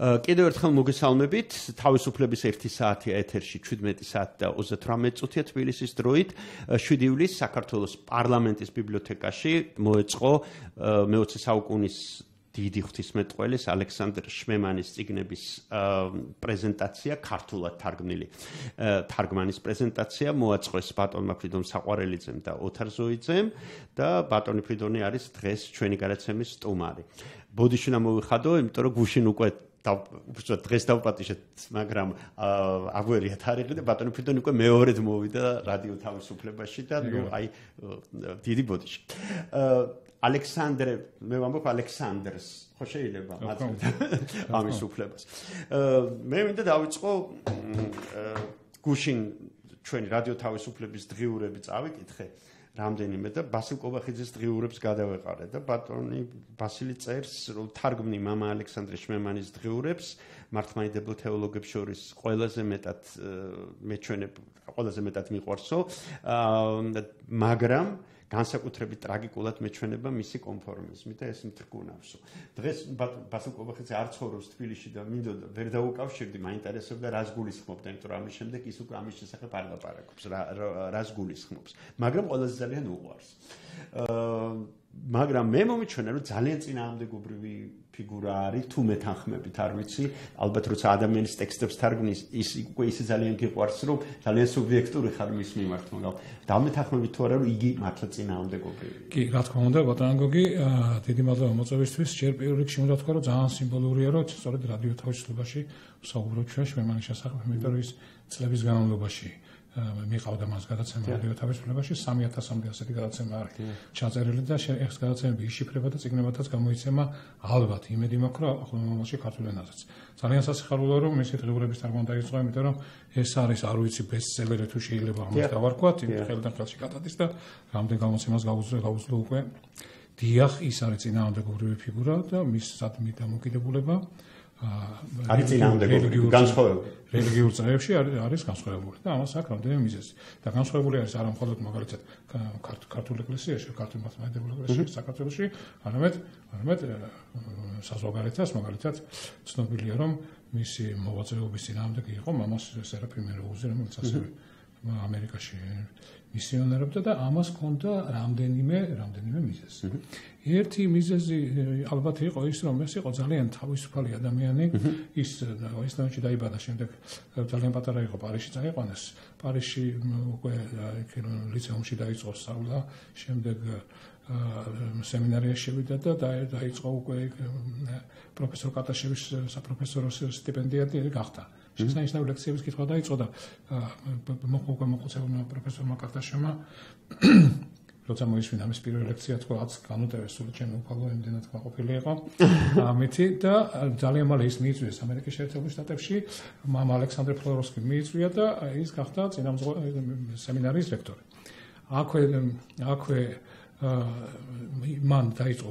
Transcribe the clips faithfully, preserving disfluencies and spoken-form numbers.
კიდევ ერთხელ მოგესალმებით. თავისუფლების ერთი საათია ეთერში შვიდმეტი საათი და ოცდათვრამეტი წუთია თბილისის დროით. შვიდი ივლისს საქართველოს პარლამენტის ბიბლიოთეკაში მოეწყო მეოცე საუკუნის დიდი ღვთისმეტყველის ალექსანდრ შმემანის წიგნების პრეზენტაცია, ქართულად თარგმნილი თარგმანის პრეზენტაცია მოაწყეს ბატონმა ფრიდონ საყვარელიძემ და ოთარ ზოიძემ და ბატონი ფრიდონი არის დღეს ჩვენი გადაცემის სტუმარი. ბოდიში უნდა მოვიხადო, იმიტომ რომ გუშინ უკვე უბრალოდ დღეს დავპატიშეთ, მაგრამ აგვერია თარიღი და ბატონი ფრიდონი უკვე მეორედ მოვიდა რადიო თავისუფლებაში და ნუ აი დიდი ბოდიში. ალექსანდრე, მე ვამბობ ალექსანდრს, ხო შეიძლება ამის უფლებას. მე მინდა დავიწყო გუშინ ჩვენი რადიო თავისუფლების დღიურები წავიკითხე რამდენიმე და ბასილ კობახიძის დღიურებს გადავეყარე და ბატონი ბასილი წერს, რომ თარგმნი მამა ალექსანდრე შმემანის დღიურებს მართლმადიდებელ თეოლოგებს შორის ყველაზე მეტად მეჩვენებ, ყველაზე მეტად მიყვარსო, მაგრამ განსაკუთრებით ტრაგიკულად მეჩვენება მისი კონფორმიზმი და ეს მტრკუნავსო. დღეს ბასილ კობახიძე არ ცხოვრობს თბილისში და მინდოდა ვერ დაუკავშირდი, მაინტერესებდა რას გულისხმობდა, იმიტომ რომ ამის შემდეგ ის უკვე ამის შესახებ არ ლაპარაკობს, რას გულისხმობს, მაგრამ ყველაზე ძალიან უყვარს. მაგრამ მე მომიჩვენა, რომ ძალიან წინააღმდეგობრივი ფიგურა არის, თუ მეთანხმებით, არ ვიცი, ალბათ როცა ადამიანის ტექსტებს თარგმნის, ის უკვე ისე ძალიან გიყვარს, რომ ძალიან სუბიექტური ხარ მის მიმართ, მაგრამ დამეთანხმებით თუ არა, რომ იგი მართლა წინააღმდეგობრივია. კი, რა თქმა უნდა, ბატონო გოგი, დიდი მადლობა მოწვევისთვის. ჯერ პირველ რიგში უნდა ვთქვა, რომ ძალიან სიმბოლურია, რომ სწორედ რადიო თავისუფლებაში ვსაუბრობ ჩვენ შმემანის შესახებ, იმიტომ რომ ის წლების განმავლობაში მიყავდა მას გადაცემა რადიო თავისუფლებაში სამი ათასამდე ასეთი გადაცემა არის ჩაწერილი და ეს გადაცემები იშიფრება და წიგნებათაც გამოიცემა ალბათ იმედი მაქვს რომ ახლა მომავალში ქართულ ენაზეც ძალიან სასიხარულოა რომ მისი დღიურების თარგმნა დაიწყო იმიტომ რომ ეს არის არ ვიცი ბესტსელერი თუ შეიძლება ამას დავარქვათ იმ ხელიდან ხელში გადადის და რამდენ გამოცემას გაუძლო გაუძლო უკვე დიახ ის არის წინააღმდეგობრივი ფიგურა და მის სადმი დამოკიდებულება არის წინააღმდეგობრივი განსხვავებული რელიგიურ წრეებში არის განსხვავებული და ამას აქვს რამდენიმე მიზეზი და განსხვავებული არის არა მხოლოდ მაგალითად ქართულ ეკლესიაში, ქართულ მართლმადიდებელ ეკლესიაში, საქართველოში, არამედ არამედ საზღვარგარეთას მაგალითად ცნობილია რომ მისი მოღვაწეობის წინააღმდეგი იყო მამას სერაფიმე როუზი, რომელიც ასევე ამერიკაში მისიონერობდა და ამას ჰქონდა რამდენიმე რამდენიმე მიზეზი. ერთი მიზეზი ალბათ იყო ის, რომ ეს იყო ძალიან თავისუფალი ადამიანი, ის ისლამში დაიბადა, შემდეგ ძალიან პატარა იყო პარიზში წაიყვანეს. პარიზში უკვე ლიცეუმში დაიწყო სწავლა, შემდეგ სემინარიაში შევიდა და დაიწყო უკვე პროფესორ კატაშევის საპროფესორო სტიპენდიატი გახდა. შესანიშნავი ლექციების კითხვა დაიწყო და მოყვა მოხუცებულმა პროფესორმა კარტაშევმა როცა მოისმინა მის პირველი ლექცია თქვა რაც განუტევეს სულ ჩემი უფალო იმდენად კმაყოფილი იყო ამითი და ძალიან მალე ის მიიწვიეს ამერიკის შეერთებულ შტატებში მამა ალექსანდრე ფლოროვსკი მიიწვია და ის გახდა წინამძღოლი სემინარიის რექტორი აქვე აქვე მან დაიწყო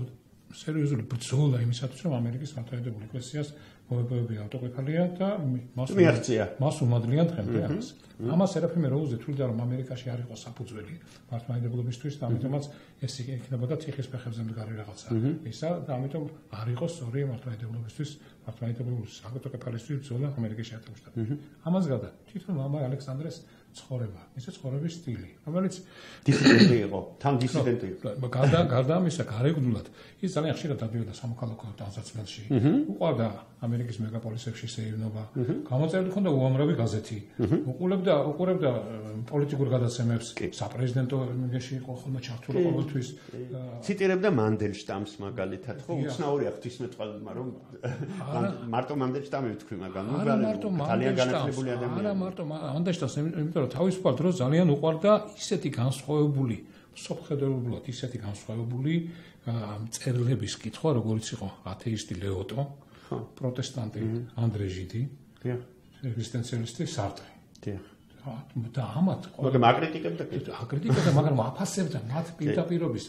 სერიოზული ბრძოლა იმისათვის რომ ამერიკის მართლმადიდებელ ეკლესიას მოებოებია ავტოკეფალია და მას მიაღწია მას უმადლიან დღემდე ამას. ამას სერაფიმე როუზი თვლიდა რომ ამერიკაში არ იყო საფუძველი მართლმადიდებლობისთვის და ამიტომაც ეს იქნებოდა თიხის ფეხებზე მდგარი რაღაცა. ისა და ამიტომ არ იყო სწორი მართლმადიდებლობისთვის მართლმადიდებლობის ავტოკეფალისთვის ბრძოლა ამერიკის შეერთებულ შტატებში. ამას გადა თვითონ მამა ალექსანდრეს ცხოვრება, ისე ცხოვრების სტილი, რომელიც დისიდენტი იყო, თან დისიდენტი იყო. გარდა გარდა ამისა, გარეგნულად ის ძალიან ხშირად დადიოდა სამოქალაქო ტანსაცმელში. უყვარდა ამერიკის მეგაპოლისებში შეივნობა. გამოწერილი ჰქონდა უამრავი გაზეთი. უყურებდა უყურებდა პოლიტიკურ გადაცემებს, საპრეზიდენტო მიგეში იყო ხოლმე ჩართული ყოველთვის. ციტირებდა მანდელშტამს მაგალითად, ხო, უცნაურია ღვთისმეტყველმა რომ მარტო მანდელშტამი ვთქვი, მაგრამ ძალიან განათლებული ადამიანი. არა მარტო მანდელშტამს, იმიტომ რომ თავისუფალ დროს ძალიან უყვარდა ისეთი განსხვავებული, სოფხედელობულად ისეთი განსხვავებული წერილების კითხვა, როგორც იყო ათეისტი ლეოტო, პროტესტანტი ანდრე ჟიდი, ეგზისტენციალისტი სარტრი. და ამათ მაგრამ აკრიტიკებდა აკრიტიკებდა, მაგრამ აფასებდა მათ პირდაპირობის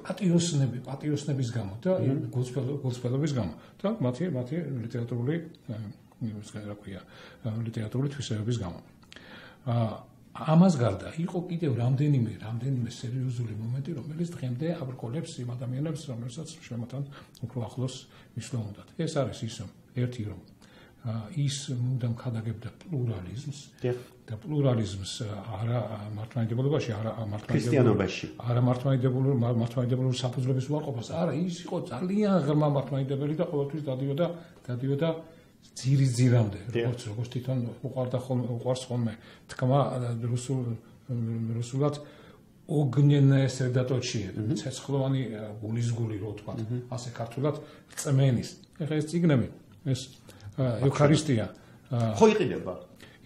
პატიოსნები, პატიოსნების გამო და გულწრფელობის გამო და მათი მათი ლიტერატურული, რა ქვია, ლიტერატურული თვისებების გამო. ამას გარდა იყო კიდევ რამდენიმე რამდენიმე სერიოზული მომენტი, რომელიც დღემდე აბრკოლებს იმ ადამიანებს, რომელსაც შემოთან უფრო ახლოს მისვლა უნდათ. ეს არის ის ერთი რომ ის მუდამ ხადაგებდა პლურალიზმს და პლურალიზმს არა მართლმადიდებლობაში, არა ქრისტიანობაში, არა მართლმადიდებლურ მართლმადიდებლურ საფუძვლების უარყოფას, არა, ის იყო ძალიან ღრმა მართლმადიდებელი და ყოველთვის დადიოდა დადიოდა ძირის ძირამდე, როგორც როგორც თვითონ უყარდა ხოლმე უყარს ხოლმე თქმა რუსულ რუსულად ოგნენное средоточие, ცეცხლოვანი გულისგული რო თქვა, ასე ქართულად წმენის. ეხლა ეს წიგნები, ეს ევქარისტია ხო იყიდება.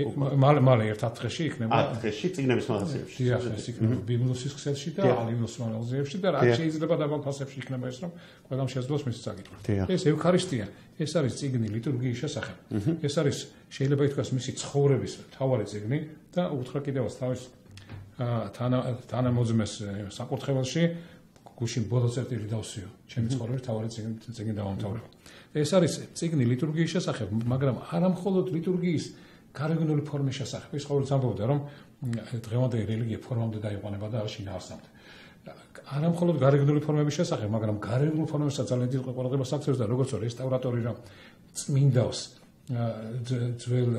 მალე მალე ერთ ათღეში იქნება. ათღეში წიგნების მაღაზიებში. დიახ, ეს იქნება ბიბლიოსის ქსელში და ალინოს მაღაზიებში და რაც შეიძლება დაბალფასებში იქნება ეს რომ ყველამ შეძლოს მის წაკითხვა. ეს ევქარისტია, ეს არის წიგნი ლიტურგიის შესახებ. ეს არის შეიძლება ითქვას მისი ცხოვრების მთავარი წიგნი და უთხრა კიდევაც თავის თანამოძმეს საკურთხეველში გუშინ ბოლო წერტილი დავსვიო. ჩემი ცხოვრების მთავარი წიგნი წიგნი დავამთავრებო. ეს არის წიგნი ლიტურგიის შესახებ, მაგრამ არა მხოლოდ ლიტურგიის გარეგნული ფორმის შესახებ. ის ყოველთვის ამბობდა, რომ დღევანდელი რელიგია ფორმამდე დაიყვანება და არ შინაარსამდე. არა მხოლოდ გარეგნული ფორმების შესახებ, მაგრამ გარეგნულ ფორმებსაც ძალიან დიდ ყურადღებას აქცევს და როგორც რესტავრატორი რომ წმინდავს ძველ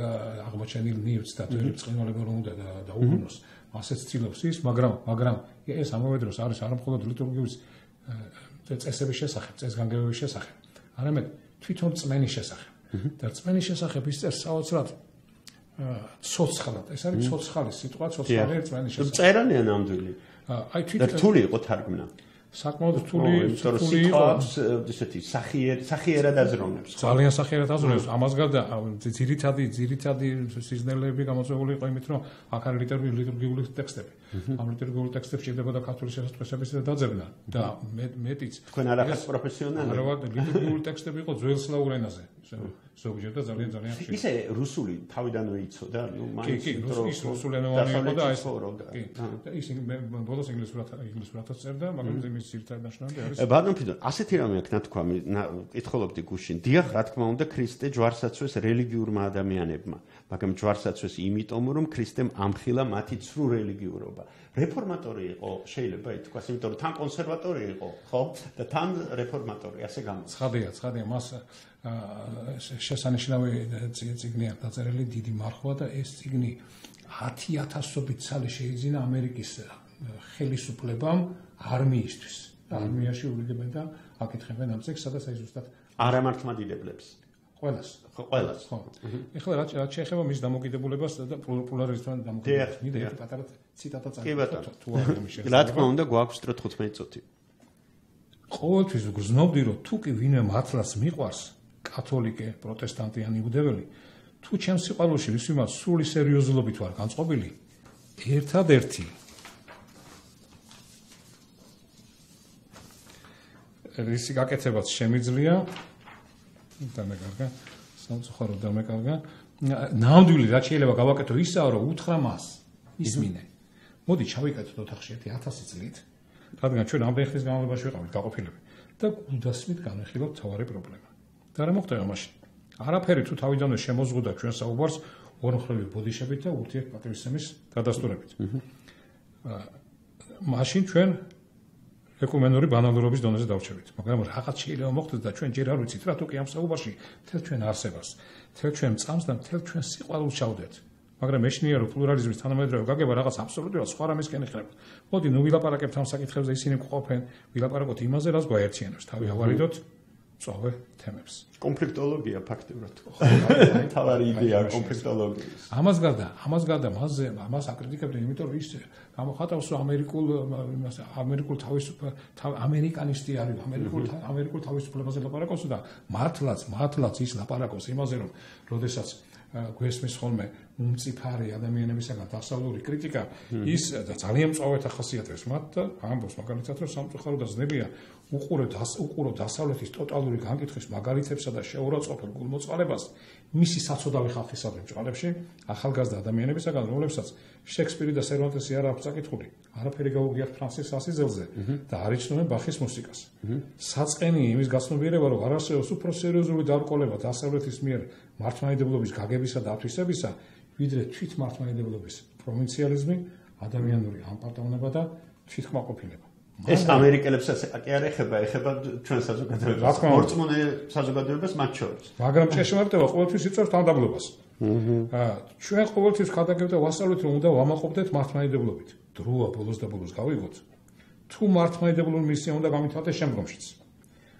აღმოჩენილ ნივთს და ძველი ბრწყინვალება რომ უნდა დაუბრუნოს, ასეც ცდილობს ის, მაგრამ მაგრამ ეს ამავე დროს არის არა მხოლოდ ლიტურგიის წესების შესახებ, წესგანგებების შესახებ, არამედ თვითონ წმენის შესახებ. და წმენის შესახებ ის წერს საოცრად ცოცხლად. ეს არის ცოცხალი სიტყვა, ცოცხალი წმენის შესახებ. წერანია ნამდვილი. აი თვითონ რთული იყო თარგმნა. საკმაოდ რთული რთული იყო, ესეთი სახიერი სახიერად აზროვნებს. ძალიან სახიერად აზროვნებს. ამას გარდა ძირითადი ძირითადი სიზნელეები გამოწვეული იყო იმით, რომ აქ არის ლიტურგიული ტექსტები. ამ ლიტურგიულ ტექსტებში შედებოდა ქართული შესაწყისების დაძებნა და მეტიც. თქვენ არ ახართ პროფესიონალი? არა, ლიტურგიული ტექსტები იყო ძველ სლავურ ენაზე. ზოგჯერ და ძალიან ძალიან ხშირად. ისე რუსული თავიდანვე იცოდა, ნუ მაინც ის რუსულენოვანი იყო და ეს კი. ის ბოლოს ინგლისურად ინგლისურადაც წერდა, მაგრამ იმის ძირითადი ნაშრომი არის. ბატონ ფიდო, ასეთი რამე აქვს ნათქვამი, კითხულობდი გუშინ. დიახ, რა თქმა უნდა, ქრისტე ჯვარსაცვეს რელიგიურმა ადამიანებმა, მაგრამ ჯვარსაცვეს იმიტომ, რომ ქრისტემ ამხილა მათი ცრუ რელიგიურობა. რეფორმატორი იყო, შეიძლება ითქვას, იმიტომ რომ თან კონსერვატორი იყო, ხო? და თან რეფორმატორი, ასე გამოდის. ცხადია, ცხადია, მას შესანიშნავი წიგნია დაწერილი დიდი მარხვა და ეს წიგნი ათი ათასობით წელი შეიძინა ამერიკის ხელისუფლებამ არმიისთვის. არმიაში ურიგებენ და აკითხებენ ამ წიგნს, სადაც აი ზუსტად არა მართლმადიდებლებს. ყველას. ხო, ყველას. ხო. ეხლა რაც შეეხება მის დამოკიდებულებას და პოპულარიზმთან დამოკიდებულებას, მინდა ერთი პატარა ციტატა წაიღო. თუ რა თქმა უნდა, გვაქვს დრო თხუთმეტი წუთი. ყოველთვის გრძნობდი, რომ თუ კი ვინმე მართლაც მიყვარს, კათოლიკე, პროტესტანტი ან იუდეველი, თუ ჩემს სიყვარულში ვისვიმაც სრული სერიოზულობით ვარ განწყობილი, ერთადერთი რისი გაკეთებაც შემიძლია, დამეკარგა, სამწუხაროდ დამეკარგა, ნამდვილი რაც შეიძლება გავაკეთო ისაა, რომ უთხრა მას, ისმინე. მოდი ჩავიკეთოთ ოთახში ერთი ათასი წლით, რადგან ჩვენ ამდენ ხნის განმავლობაში ვიყავით გაყოფილები და გულდასმით განვიხილოთ თავარი პრობლემა. და რა მოხდება მაშინ? არაფერი თუ თავიდანვე შემოზღუდა ჩვენ საუბარს ორმხრივი ბოდიშებით და ურთიერთპატივისცემის დადასტურებით. მაშინ ჩვენ ეკუმენური ბანალურობის დონეზე დავრჩებით. მაგრამ რაღაც შეიძლება მოხდეს და ჩვენ ჯერ არ ვიცით რა თუ კი ამ საუბარში თელ ჩვენ არსებას, თელ ჩვენ წამს და თელ ჩვენ სიყვარულს ჩავდეთ. მაგრამ მეშინია რომ პლურალიზმის თანამედროვე გაგება რაღაც აბსოლუტურად სხვა რამისკენ იხება. მოდი ნუ ვილაპარაკებთ ამ საკითხებზე, ისინი გყოფენ, ვილაპარაკოთ იმაზე, რაც გვაერთიანებს, თავი ავარიდოთ წოვე თემებს. კონფლიქტოლოგია ფაქტობრივად. თავარი იდეა კონფლიქტოლოგიის. ამას გარდა, ამას გარდა მასზე ამას აკრიტიკებდნენ, იმიტომ რომ ის გამოხატავს რომ ამერიკულ ამერიკულ თავისუფლ ამერიკანისტი არის, ამერიკულ ამერიკულ თავისუფლებაზე ლაპარაკობს და მართლაც, მართლაც ის ლაპარაკობს იმაზე რომ როდესაც გვესმის ხოლმე უმწიფარი ადამიანებისაგან დასავლური კრიტიკა, ის ძალიან მწვავედ ახასიათებს მათ და ამბობს მაგალითად რომ სამწუხარო და ძნელია უყურებთ უყურებთ დასავლეთის ტოტალური განკითხვის მაგალითებსა და შეურაცხყოფილ გულმოწყალებას მისი საცოდავი ხალხისადმი ბჭყალებში ახალგაზრდა ადამიანებისაგან, რომლებსაც შექსპირი და სერვანტესი არ აქვს წაკითხული, არაფერი გაუგიათ ფრანსის ასიზელზე და არ იცნობენ ბახის მუსიკას. საწყენია იმის გაცნობიერება, რომ არ არსებობს უფრო სერიოზული დაბრკოლება დასავლეთის მიერ მართლმადიდებლობის გაგებისა და ათვისებისა, ვიდრე თვით მართლმადიდებლობის პროვინციალიზმი, ადამიანური ამპარტავნება და თვითკმაყოფილება. ეს ამერიკელებსაც კი არ ეხება, ეხება ჩვენ საზოგადოებას. მორწმუნე საზოგადოებას მათ შორის. მაგრამ ჭეშმარიტება ყოველთვის იწევს თანამდებობას. აა ჩვენ ყოველთვის ხადაგებთ და ვასწავლეთ, რომ უნდა ვამაყობდეთ მართლმადიდებლობით. დროა ბოლოს და ბოლოს გავიგოთ. თუ მართლმადიდებლური მისია უნდა გამithავდეს შემდგომშიც.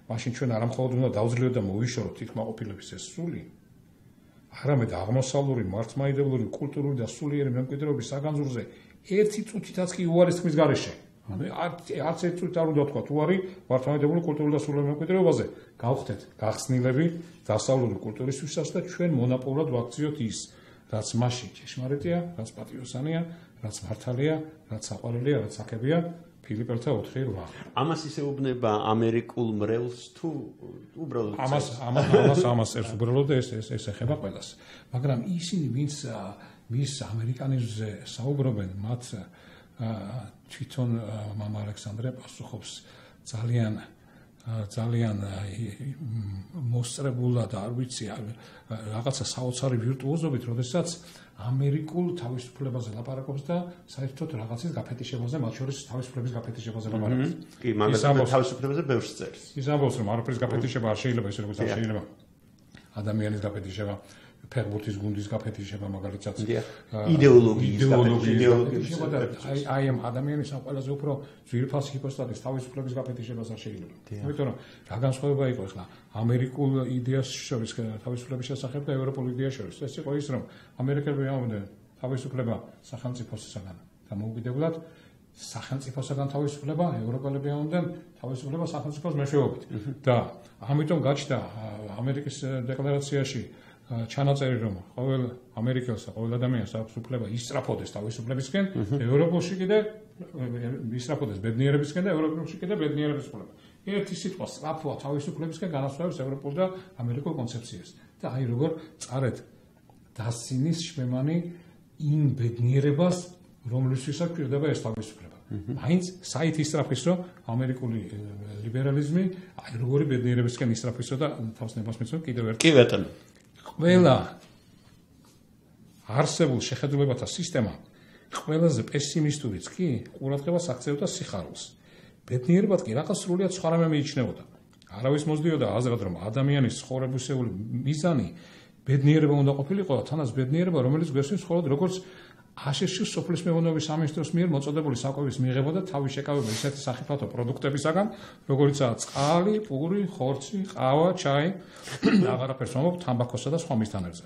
მაშინ ჩვენ არ მხოლოდ უნდა დავძლევთ და მოვიშოროთ თვითკმაყოფილების ეს სული, არამედ აღმოსავლური მართლმადიდებლური კულტურული და სულიერი მემკვიდრეობის საგანძურზე ერთი წუთითაც კი უარის თქმის გარეშე. არც ერთ წუთით არ უნდა თქვა უარი მართლმადიდებლური კულტურული და სულიერი მემკვიდრეობაზე. გავხდეთ გახსნილები დასავლური კულტურისთვისაც და ჩვენ მონაპოვრად ვაქციოთ ის, რაც მასში ჭეშმარიტია, რაც პატრიოტიანია, რაც მართალია, რაც საყვარელია, რაც აქებია. ფილიპელთა ოთხი რვა. ამას ისეუბნება ამერიკულ მრევლს თუ უბრალოდ ამას ამას ამას ამას წერს უბრალოდ ეს ეს ეს ეხება ყველას. მაგრამ ისინი ვინც მის ამერიკანიზმზე საუბრობენ, მათ თვითონ მამა ალექსანდრე პასუხობს ძალიან ძალიან მოსწრებულად და არ ვიცი რაღაცა საოცარი ვირტუოზობით, როდესაც ამერიკულ თავისუფლებაზე ლაპარაკობს და საერთოდ რაღაცის გაფეთიშებაზე, მათ შორის თავისუფლების გაფეთიშებაზე ლაპარაკობს. კი, მაგრამ თავისუფლებაზე ბევრს წერს. ის ამბობს, რომ არაფრის გაფეთიშება არ შეიძლება, ისე როგორც არ შეიძლება ადამიანის გაფეთიშება, ფეხბურთის გუნდის გაფეთიშება, მაგალითად, იდეოლოგიის გაფეთიშება და აი აი ამ ადამიანის ამ ყველაზე უფრო ძვირფას ჰიპოსტატის თავისუფლების გაფეთიშებას არ შეიძლება. იმიტომ რომ რა განსხვავება იყო ახლა ამერიკულ იდეას შორის თავისუფლების შესახებ და ევროპულ იდეას შორის. ეს იყო ის, რომ ამერიკელები ამბობდნენ თავისუფლება სახელმწიფოსაგან და მოუგებულად სახელმწიფოსაგან თავისუფლება, ევროპელები ამბობდნენ თავისუფლება სახელმწიფოს მეშვეობით. და ამიტომ გაჩნდა ამერიკის დეკლარაციაში ჩანაწერი, რომ ყოველ ამერიკელს და ყოველ ადამიანს აქვს უფლება ისწრაფოდეს თავისუფლებისკენ, ევროპაში კიდე ისწრაფოდეს ბედნიერებისკენ და ევროპაში კიდე ბედნიერების უფლება. ერთი სიტყვა სწრაფვა თავისუფლებისკენ განასხვავებს ევროპულ და ამერიკულ კონცეფციას. და აი როგორ წარეთ დასცინის შვემანი იმ ბედნიერებას, რომლისთვისაც გვერდება ეს თავისუფლება. მაინც საით ისწრაფის, რომ ამერიკული ლიბერალიზმი აი როგორი ბედნიერებისკენ ისწრაფისო და თავს ნებას მიცემ კიდევ ერთ. კი ბატონო. ყველა არსებულ შეხედულებათა სისტემა ყველაზე პესიმისტურიც კი ყურადღებას აქცევდა სიხარულს. ბედნიერებად კი რაღაც სრულიად სხვა რამე მიიჩნეოდა. არავის მოსდიოდა აზრად, რომ ადამიანის ცხოვრებისეული მიზანი ბედნიერება უნდა ყოფილიყო, თანაც ბედნიერება, რომელიც გვესმის მხოლოდ როგორც აშშ სოფლის მეურნეობის სამინისტროს მიერ მოწოდებული საკვების მიღება და თავის შეკავება ისეთი სახიფათო პროდუქტებისაგან, როგორიცაა წყალი, პური, ხორცი, ყავა, ჩაი, აღარაფერს მომობ თამბაქოსა და სხვა მისთანებზე.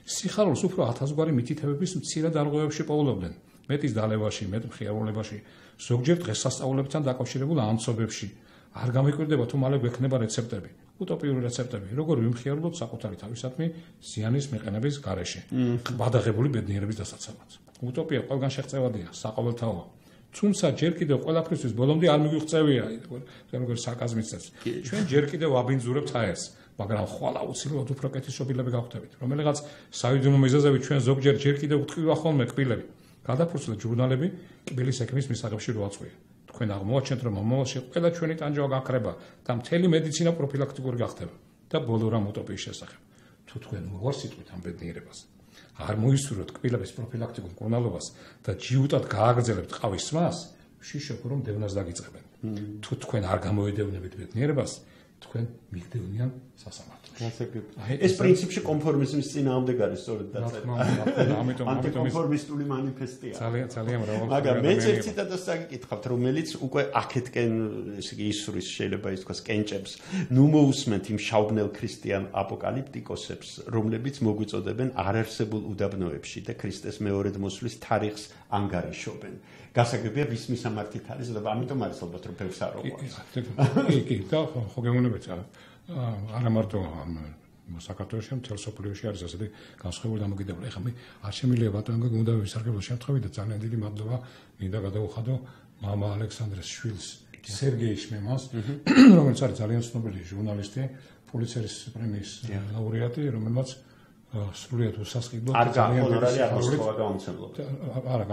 სიხარულს უფრო ათასგვარი მითითებების მცირე დარღვევებში პოულობდნენ, მეტის დალევაში, მეტ მხიარულებაში, ზოგჯერ დღესასწაულებთან დაკავშირებულ ამცობებში. არ გამიკვირდება თუ მალე გვექნება რეცეპტები, უტოპიური რეცეპტები, როგორ ვიმხიარულოთ საკუთარი თავისათმი ზიანის მიყენების გარეშე, ბადაღებული ბედნიერების დასაცავად. უტოპია ყველგან შეღწევადია, საყოველთაოა. თუმცა ჯერ კიდევ ყველაფრისთვის ბოლომდე არ მიგვიღწევია, როგორ სარკაზმიც წევს. ჩვენ ჯერ კიდევ ვაბინძურებთ აერს, მაგრამ ხვალ აუცილებლად უფრო კეთილშობილები გავხდებით, რომელიღაც საიდუმლო მიზეზებით ჩვენ ზოგჯერ ჯერ კიდევ ვთქვივა ხოლმე კბილები. გადაფურცლეთ ჟურნალები კბილის ექიმის მისაღებში რო აწყვია. თქვენ აღმოაჩენთ, რომ მომავალში ყველა ჩვენი ტანჯვა გაქრება და მთელი მედიცინა პროფილაქტიკური გახდება და ბოლო რამ უტოპიის შესახებ. თუ თქვენ მოვარსიტყვით ამ ბედნიერებას, არ მოისურვოთ კბილების პროფილაქტიკურ მკურნალობას და ჯიუტად გააგრძელებთ ყავის სმას, შიშობ რომ დევნას დაგიწყებენ. თუ თქვენ არ გამოედევნებით ბედნიერებას, თქვენ მიგდევნიან სასამართლოში. ეს პრინციპში კონფორმიზმის წინააღმდეგ არის სწორედ დაწერილი. ამიტომ ანტიკონფორმისტული მანიფესტია. ძალიან ძალიან მრავალ. მაგრამ მეც ერთ ციტატას საგიკითხავთ, რომელიც უკვე აქეთკენ ესე იგი ისურის შეიძლება ის თქვას კენჭებს. ნუ მოусმენთ იმ შაუბნელ ქრისტიან აპოკალიფტიკოსებს, რომლებიც მოგვიწოდებენ არარსებულ უდაბნოებში და ქრისტეს მეორედ მოსვლის თარიღს ანგარიშობენ. გასაგებია ვის მისამართით არის და ამიტომ არის ალბათ რომ ბევრს არ ოყვარს. კი, კი, და ხო გეუბნებით არა მარტო საქართველოში, მთელ სოფლიოში არის ასეთი განსხვავებული დამოკიდებული. ეხლა მე არ შემიძლია ბატონო გუნდა ვისარგებლო შემთხვევით და ძალიან დიდი მადლობა მინდა გადავუხადო მამა ალექსანდრეს შვილს, სერგეი შმემას, რომელიც არის ძალიან ცნობილი ჟურნალისტი, პულიცერის პრემიის ლაურეატი, რომელმაც სრულიად უსასყიდლო ძალიან გონორარი აღმოსწოვა გამომცემლობა. არა,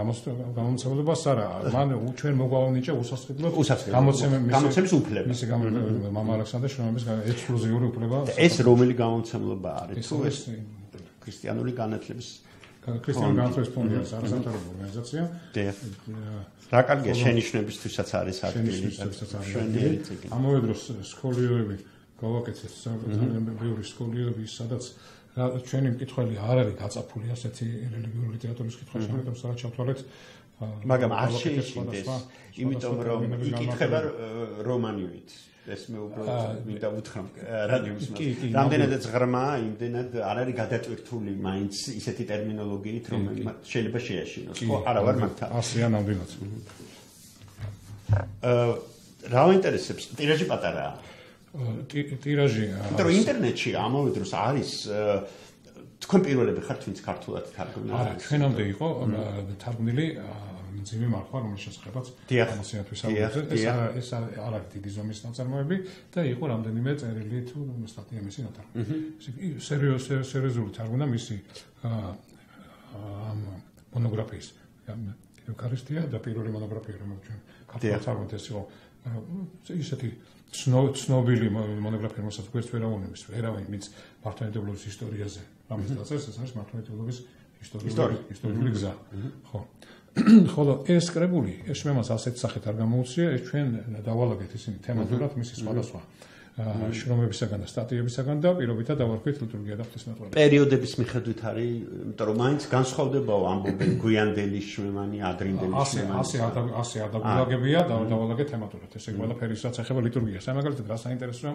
გამომცემლობას არა, მან ჩვენ მოგვავნიჭა უსასყიდლო გამოცემის უფლება. მისი გამოცემლობა მამა ალექსანდრეს შრომების ექსკლუზიური უფლება. ეს რომელი გამომცემლობა არის? თუ ეს ქრისტიანული განათლების ქრისტიანი განათლების ფონდი არის არასამთავრობო ორგანიზაცია. რა კარგია შენიშვნებისთვისაც არის ადგილი. შენიშვნებისთვისაც არის ადგილი. ამავე დროს სკოლიოები გავაკეთეთ ძალიან ბევრი სკოლიოები, სადაც ჩვენი მკითხველი არ არის გაწაფული ასეთი რელიგიური ლიტერატურის კითხვაში, ამიტომ სადაც ჩავთვალეთ მაგრამ არ შეიშინდეს, იმიტომ რომ იკითხება რომანივით. ეს მე უბრალოდ მინდა უთხრა რადიოს მას. რამდენადაც ღრმაა, იმდენად არ არის გადატვირთული მაინც ისეთი ტერმინოლოგიით, რომ შეიძლება შეაშინოს. ხო, არა ვარ მაგთან. ასეა ნამდვილად. აა რა ინტერესებს? ტირაჟი პატარაა. ტირაჟი. იმიტომ რომ ინტერნეტში ამავე დროს არის თქვენ პირველები ხართ, ვინც ქართულად თარგმნა. არა, ჩვენამდე იყო თარგმნილი მძიმე მარხვა, რომელიც შესახებაც ამასიანთვის ავუძე. ეს ეს არ არის დიდი ზომის ნაწარმოები და იყო რამდენიმე წერილი თუ სტატია მისი ნათარგმნი. სერიოზული სერიოზული თარგმნა მისი ამ მონოგრაფიის. ევქარისტია და პირველი მონოგრაფია, რომელიც ჩვენ ქართულად თარგმნით, ეს იყო ისეთი ცნობილი მონოგრაფია, რომელსაც გვერდს ვერ აუნებს, ვერავინ ვინც მართლმადიდებლობის ისტორიაზე რამის დაწერს, ეს არის მართლმადიდებლობის ისტორიული გზა. ხო. ხოლო ეს კრებული, ეს შემას ასეთ სახით არ გამოუცია, ეს ჩვენ დავალაგეთ ისინი თემატურად მისი სხვადასხვა შრომებისაგან და სტატიებისაგან და პირობითად დავარქვით ლიტურგია და ღვთისმეტყველება. პერიოდების მიხედვით არის, იმიტომ რომ მაინც განსხვავდებაო ამბობენ გვიანდელი შვემანი, ადრინდელი შვემანი. ასე ასე ადაგულაგებია და დავალაგეთ თემატურად. ესე ყველაფერი რაც ეხება ლიტურგიას. აი მაგალითად რა საინტერესოა,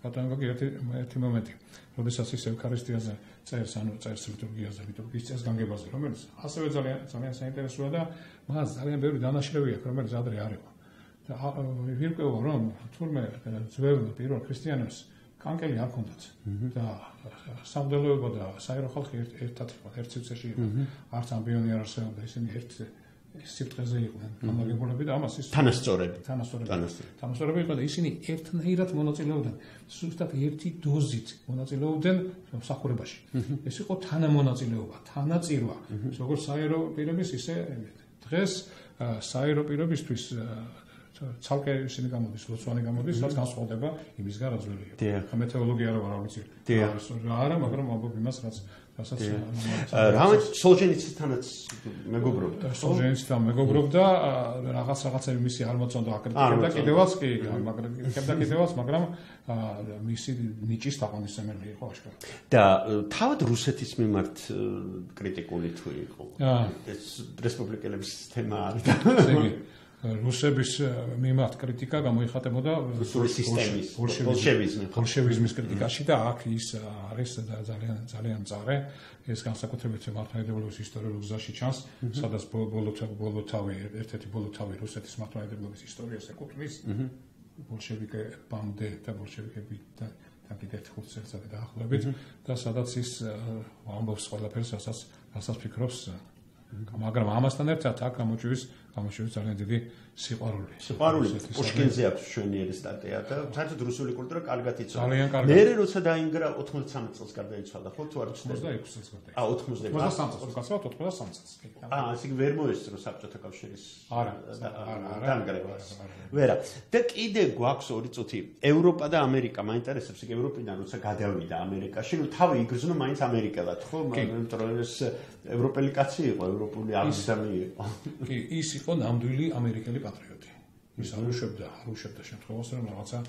ბატონო გოგი ერთი ერთი მომენტი. როდესაც ის ევქარისტიაზე წერს, ანუ წერს ლიტურგიაზე, ლიტურგიის წესგანგებაზე, რომელიც ასევე ძალიან ძალიან საინტერესოა და მას ძალიან ბევრი დანაშრევი აქვს, რომელიც ადრე არ იყო. და ვირკვევა რომ თურმე ძველ პირველ ქრისტიანებს კანკელი არ ჰქონდათ და სამდელოება და საერო ხალხი ერთად იყო, ერთ სივრცეში იყო. არც ამბიონი არ არსებობდა, ისინი ერთ სიბრტყეზე იყვნენ გამაგებულები და ამას ის თანასწორები თანასწორები თანასწორები იყო და ისინი ერთნაირად მონაწილეობდნენ ზუსტად ერთი დოზით მონაწილეობდნენ მსახურებაში. ეს იყო თანამონაწილეობა, თანაწირვა, როგორც საერო პირების, ისე დღეს საერო პირებისთვის ცალკე ისინი გამოდის, ლოცვანი გამოდის, რაც განსხვავდება იმისგან, რაც ძველი იყო. მეტეოლოგია არა ვარ ვიცი. არა, მაგრამ ამბობ იმას, რაც რასაც რამე სოლჟენიციდანაც მეგობრობდა. სოლჟენიციდთან მეგობრობდა, რაღაც რაღაცები მისი არ მოწონდა აკრიტიკებდა კიდევაც კი, მაგრამ აკრიტიკებდა კიდევაც, მაგრამ მისი ნიჭის თაყვანისმცემელი იყო აშკარად. და თავად რუსეთის მიმართ კრიტიკული თუ იყო. ეს რესპუბლიკელების თემა არის. რუსების მიმართ კრიტიკა გამოიხატებოდა რუსული სისტემის, ბოლშევიზმის, ბოლშევიზმის კრიტიკაში და აქ ის არის ძალიან ძალიან მწარე. ეს განსაკუთრებით მართლმადიდებლობის ისტორიულ გზაში ჩანს, სადაც ბოლოთავი, ერთ-ერთი ბოლოთავი რუსეთის მართლმადიდებლობის ისტორიას ეკუთვნის. ბოლშევიკებამდე და ბოლშევიკები და კიდევ ხუთ წელიწადზე დაახლოებით და სადაც ის ამბობს ყველაფერს, რასაც რასაც ფიქრობს. მაგრამ ამასთან ერთად აქ გამოჩვის გამოჩვის ძალიან დიდი სიყვარული. სიყვარული პუშკინზე აქვს შვენიერი სტატია და საერთოდ რუსული კულტურა კარგად იცოდა. ძალიან კარგად. მე როცა დაინგრა ოცდამეტ წელს გარდაიცვალა, ხო თუ არ ვცდები? ოცდაექვსი წელს გარდაიცვალა. აა ოცდამეტ წელს, გასავთ ოცდამეტ წელს. აა, ასე ვერ მოესწრო საბჭოთა კავშირის არა, არა, დანგრევას. ვერა. და კიდე გვაქვს ორი წუთი. ევროპა და ამერიკა მაინტერესებს, იქ ევროპიდან როცა გადავიდა ამერიკაში, ნუ თავი იგრძნო მაინც ამერიკელად, ხო? იმიტომ რომ ეს ევროპელი კაცი იყო, ევროპული აღზრდილი იყო. კი, ის იყო ნამდვილი ამერიკელი პატრიოტი. ის არ უშვებდა, არ უშვებდა შემთხვევას, რომ რაღაცა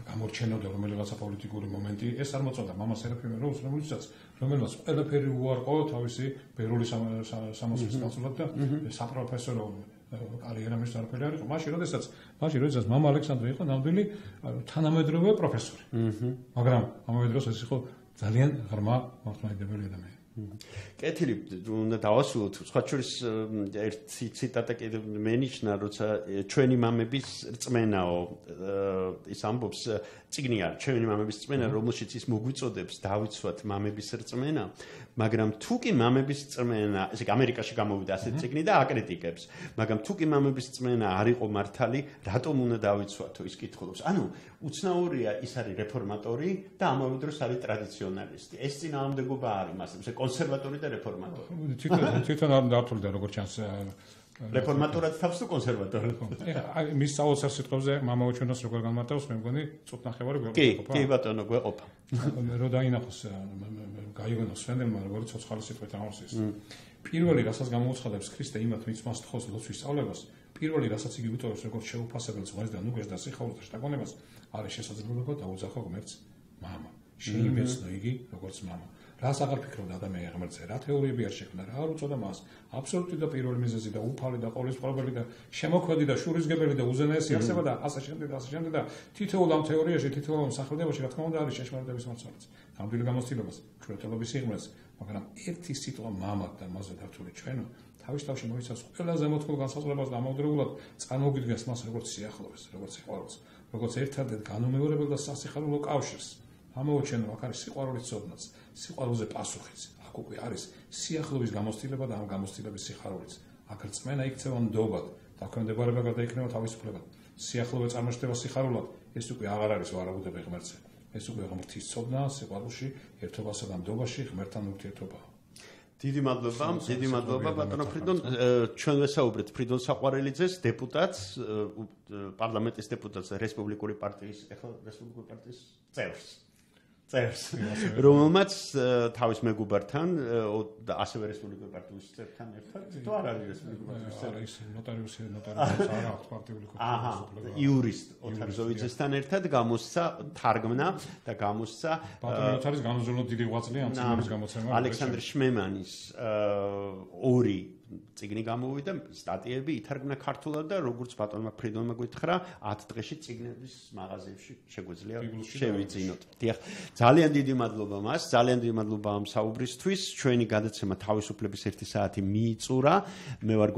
გამორჩენოდა რომელიღაცა პოლიტიკური მომენტი, ეს არ მოწონდა მამას ერაფიმ როუს, რომელიცაც რომელმაც ყველაფერი უარყო თავისი ბერული სამოსლის გასულად და საპროფესორო კარიერა მის არაფერი არ იყო. მაშინ როდესაც, მაშინ როდესაც მამა ალექსანდრე იყო ნამდვილი თანამედროვე პროფესორი. მაგრამ ამავე დროს ეს იყო ძალიან ღრმა მართლმადიდებელი ადამიანი. კეთილი უნდა დავასრულოთ. სხვა შორის ერთი ციტატა კიდევ მენიშნა, როცა ჩვენი მამების რწმენაო ის ამბობს წიგნია, ჩვენი მამების რწმენა, რომელშიც ის მოგვიწოდებს დავიცვათ მამების რწმენა, მაგრამ თუ კი მამების რწმენა, ესე ამერიკაში გამოვიდა ასეთი წიგნი და აკრიტიკებს, მაგრამ თუ კი მამების რწმენა არ იყო მართალი, რატომ უნდა დავიცვათო, ის კითხულობს. ანუ უცნაურია, ის არის რეფორმატორი და ამავე დროს არის ტრადიციონალისტი. ეს წინააღმდეგობა არის მასზე, კონსერვატორი და რეფორმატორი. თვითონ თვითონ არ დართულდა როგორც ჩანს რეფორმატორად თავს თუ კონსერვატორად? ეხა მის სწავლულს სიტყვებზე მამაო ჩვენოს როგორ განმარტავს, მე მგონი წუთნახევარი გვეყოფა. კი, კი ბატონო, გვეყოფა. რო დაინახოს გაიგონოს სვენდელმა როგორი ცოცხალი სიტყვით ამოსის. პირველი რასაც გამოუცხადებს ქრისტე იმათ მის მას თხოვს ლოცვის სწავლებას, პირველი რასაც იგი უტოვებს როგორც შეუფასებელს ღმერთს და ნუგეს და სიხარულს და შთაგონებას, არის შესაძლებლობა დაუძახო ღმერთს მამა. შეიმეცნო იგი როგორც მამა. რას აღარ ფიქრობდა ადამიანი ღმერთზე, რა თეორიები არ შექმნა, რა არ უწოდა მას, აბსოლუტური და პირველი მიზეზი და უფალი და ყოვლისმხრივი და შემოქმედი და შურისგებელი და უზენაესი არსება და ასე შემდეგ და ასე შემდეგ და თითოეულ ამ თეორიაში, თითოეულ ამ სახელმდებოში რა თქმა უნდა არის შეშმარდების მოცულიც. ნამდვილი გამოცდილებას, ჩვენთელობის სიღრმეს, მაგრამ ერთი სიტყვა მამა და მასზე დართული ჩვენო თავის თავში მოიცავს ყველაზე მოთხოვნ განსაზღვრებას და ამავდროულად წარმოგვიდგენს მას როგორც სიახლოვეს, როგორც სიყვარულს, როგორც ერთადერთ განუმეორებელ და სასიხარულო კავშირს. ამოუჩენო აქ არის სიყვარულის ცოდნაც, სიყვარულზე პასუხიც. აქ უკვე არის სიახლოვის გამოცდილება და ამ გამოცდილების სიხარულიც. აქ რწმენა იქცევა ნდობად, დაქვემდებარება გადაიქნება თავისუფლებად. სიახლოვე წარმოჩნდება სიხარულად, ეს უკვე აღარ არის ვარაუდები ღმერთზე. ეს უკვე ღმრთის ცოდნა, სიყვარულში, ერთობასა და ნდობაში ღმერთთან ურთიერთობაა. დიდი მადლობა, დიდი მადლობა ბატონო ფრიდონ. ჩვენ ვესაუბრეთ ფრიდონ საყვარელიძეს, დეპუტატს, პარლამენტის დეპუტატს, რესპუბლიკური პარტიის, ეხლა რესპუბლიკური პარტიის წევრს. წევრს, რომელმაც თავის მეგობართან, ასევე რესპუბლიკური პარტიის წევრთან ერთად, თუ არ არის რესპუბლიკური პარტიის წევრი? არის ნოტარიუსი, ნოტარიუსი არა აქვს პარტიული კავშირი. აჰა, იურისტ ოთარ ზოვიძესთან ერთად გამოსცა თარგმნა და გამოსცა ბატონო ნოტარის განუზრუნოდ დიდი ღვაწლი ამ წიგნის გამოცემა. ალექსანდრ შმემანის ორი წიგნი გამოვიდა, სტატიები ითარგმნა ქართულად და როგორც ბატონმა ფრიდონმა გითხრა, ათ დღეში წიგნების მაღაზიებში შეგვიძლია შევიძინოთ. დიახ, ძალიან დიდი მადლობა მას, ძალიან დიდი მადლობა ამ საუბრისთვის. ჩვენი გადაცემა თავისუფლების ერთი საათი მიიწურა. მე ვარ